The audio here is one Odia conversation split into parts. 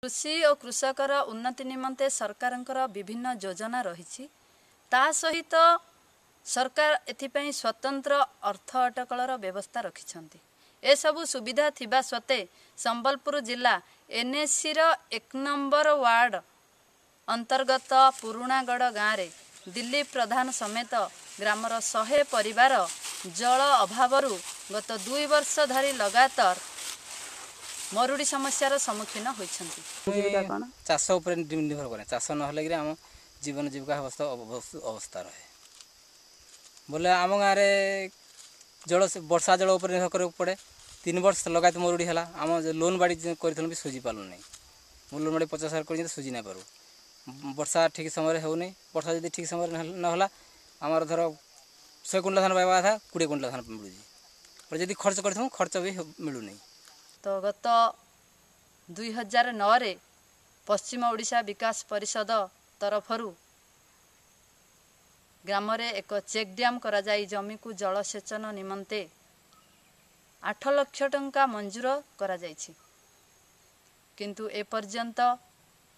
କୃଷି ଓ କୃଷକର ଉନ୍ନତି ନିମନ୍ତେ ସରକାରଙ୍କର ବିଭିନ୍ନ ଯୋଜନା ରହିଛି। ତା ସହିତ ସରକାର ଏଥିପାଇଁ ସ୍ୱତନ୍ତ୍ର ଅର୍ଥ ଅଟକଳର ବ୍ୟବସ୍ଥା ରଖିଛନ୍ତି। ଏସବୁ ସୁବିଧା ଥିବା ସତ୍ତ୍ୱେ ସମ୍ବଲପୁର ଜିଲ୍ଲା ଏନ୍ଏସିର 1 ନମ୍ବର ୱାର୍ଡ଼ ଅନ୍ତର୍ଗତ ପୁରୁଣାଗଡ଼ ଗାଁରେ ଦିଲ୍ଲୀପ ପ୍ରଧାନ ସମେତ ଗ୍ରାମର 100 ପରିବାର ଜଳ ଅଭାବରୁ ଗତ 2 ବର୍ଷ ଧରି ଲଗାତାର ମରୁଡ଼ି ସମସ୍ୟାର ସମ୍ମୁଖୀନ ହୋଇଛନ୍ତି। ଚାଷ ଉପରେ ନିର୍ଭର କରେ। ଚାଷ ନହେଲେ କିରି ଆମ ଜୀବନ ଜୀବିକା ଅବସ୍ଥା ରହେ ବୋଲେ। ଆମ ଗାଁରେ ଜଳ ବର୍ଷା ଜଳ ଉପରେ ନିର୍ଭର କରିବାକୁ ପଡ଼େ। 3 ବର୍ଷ ଲଗାତ ମରୁଡ଼ି ହେଲା। ଆମ ଲୋନ୍ ବାଡ଼ି କରିଥିଲୁ ବି ସୁଝି ପାରିଲୁ ନାହିଁ। ମୁଁ ଲୋନ୍ ବାଡ଼ି 50,000 କରି ସୁଝି ନାଇଁ ପାରୁ। ବର୍ଷା ଠିକ୍ ସମୟରେ ହେଉନି। ବର୍ଷା ଯଦି ଠିକ୍ ସମୟରେ ନହେଲା, ଆମର ଧର 100 କୁଇଣ୍ଟାଲ ଧାନ ପାଇବା କଥା, 20 କୁଇଣ୍ଟାଲ ଧାନ ମିଳୁଛି। ଯଦି ଖର୍ଚ୍ଚ କରିଥିବୁ, ଖର୍ଚ୍ଚ ବି ମିଳୁନି। ତ ଗତ 2009ରେ ପଶ୍ଚିମ ଓଡ଼ିଶା ବିକାଶ ପରିଷଦ ତରଫରୁ ଗ୍ରାମରେ ଏକ ଚେକ୍ ଡ୍ୟାମ୍ କରାଯାଇ ଜମିକୁ ଜଳସେଚନ ନିମନ୍ତେ 8 ଲକ୍ଷ ଟଙ୍କା ମଞ୍ଜୁର କରାଯାଇଛି। କିନ୍ତୁ ଏପର୍ଯ୍ୟନ୍ତ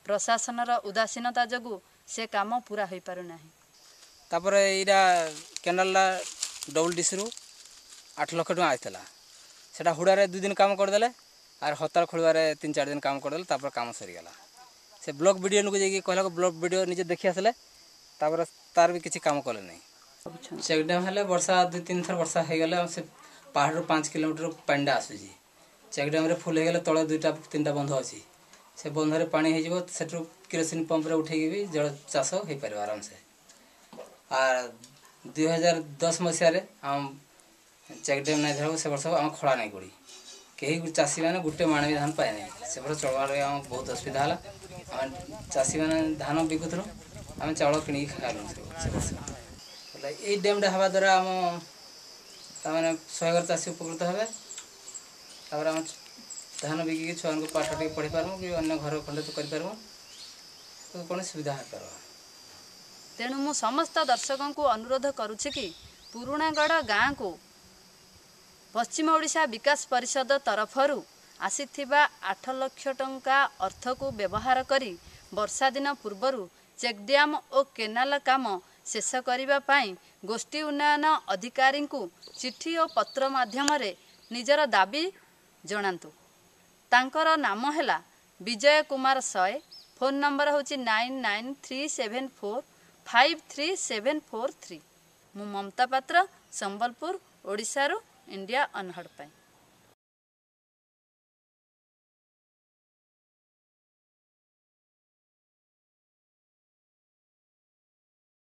ପ୍ରଶାସନର ଉଦାସୀନତା ଯୋଗୁଁ ସେ କାମ ପୁରା ହୋଇପାରୁନାହିଁ। ତାପରେ ଏଇଟା କେନାଲଟା ଡବଲ୍ ଡିସିରୁ 8 ଲକ୍ଷ ଟଙ୍କା ଆସିଥିଲା। ସେଟା ହୁଡ଼ାରେ 2 ଦିନ କାମ କରିଦେଲେ, ଆର୍ ହତାଳ ଖୋଳିବାରେ 3 4 ଦିନ କାମ କରିଦେଲେ, ତାପରେ କାମ ସରିଗଲା। ସେ ବ୍ଲକ୍ ବିଡ଼ିଓକୁ ଯାଇକି କହିଲାକୁ ବ୍ଲକ୍ ବିଡ଼ିଓ ନିଜେ ଦେଖି ଆସିଲେ, ତାପରେ ତାର ବି କିଛି କାମ କଲେ ନାହିଁ। ଚେକ୍ ଡ୍ୟାମ୍ ହେଲେ ବର୍ଷା 2 3 ଥର ବର୍ଷା ହେଇଗଲେ ସେ ପାହାଡ଼ରୁ 5 କିଲୋମିଟର ପାଣିଟା ଆସୁଛି। ଚେକ୍ ଡ୍ୟାମ୍ରେ ଫୁଲ୍ ହେଇଗଲେ ତଳେ 2ଟା 3ଟା ବନ୍ଧ ଅଛି, ସେ ବନ୍ଧରେ ପାଣି ହେଇଯିବ। ସେଠୁ କିରୋସିନ ପମ୍ପରେ ଉଠେଇକି ବି ଜଳ ଚାଷ ହେଇପାରିବ ଆରାମସେ। ଆର୍ 2010 ମସିହାରେ ଆମ ଚେକ୍ ଡ୍ୟାମ୍ ନାଇଁ ଧରିବାକୁ ସେ ବର୍ଷ ଆମ ଖଳା ନାଇଁ ପଡ଼ି, କେହି ଚାଷୀମାନେ ଗୋଟେ ମାଣ ବି ଧାନ ପାଇନାହିଁ। ସେ ବର୍ଷ ଚଳବାରେ ଆମ ବହୁତ ଅସୁବିଧା ହେଲା। ଆମେ ଚାଷୀମାନେ ଧାନ ବିକୁଥିଲୁ, ଆମେ ଚାଉଳ କିଣିକି ଖାଇଲୁ ସେ ବର୍ଷ। ବୋଲେ ଏଇ ଡ୍ୟାମ୍ଟା ହେବା ଦ୍ୱାରା ଆମ ତାମାନେ 100 ଘର ଚାଷୀ ଉପକୃତ ହେବେ। ତାପରେ ଆମେ ଧାନ ବିକିକି ଛୁଆଙ୍କୁ ପାଠ ଟିକେ ପଢ଼ି ପାରମୁ କି ଅନ୍ୟ ଘର ଖଣ୍ଡେ ତ କରିପାରିବୁ, ତ କୌଣସି ସୁବିଧା ହେଇପାରିବ। ତେଣୁ ମୁଁ ସମସ୍ତ ଦର୍ଶକଙ୍କୁ ଅନୁରୋଧ କରୁଛି କି ପୁରୁଣାଗଡ଼ ଗାଁକୁ ପଶ୍ଚିମ ଓଡ଼ିଶା ବିକାଶ ପରିଷଦ ତରଫରୁ ଆସିଥିବା 8 ଲକ୍ଷ ଟଙ୍କା ଅର୍ଥକୁ ବ୍ୟବହାର କରି ବର୍ଷା ଦିନ ପୂର୍ବରୁ ଚେକ୍ ଡ୍ୟାମ୍ ଓ କେନାଲ କାମ ଶେଷ କରିବା ପାଇଁ ଗୋଷ୍ଠୀ ଉନ୍ନୟନ ଅଧିକାରୀଙ୍କୁ ଚିଠି ଓ ପତ୍ର ମାଧ୍ୟମରେ ନିଜର ଦାବି ଜଣାନ୍ତୁ। ତାଙ୍କର ନାମ ହେଲା ବିଜୟ କୁମାର ସଏ। ଫୋନ୍ ନମ୍ବର ହେଉଛି 9937453743। ମୁଁ ମମତା ପାତ୍ର, ସମ୍ବଲପୁର, ଓଡ଼ିଶାରୁ ଇଣ୍ଡିଆ ଅନହର୍ଡ଼ ପାଇଁ।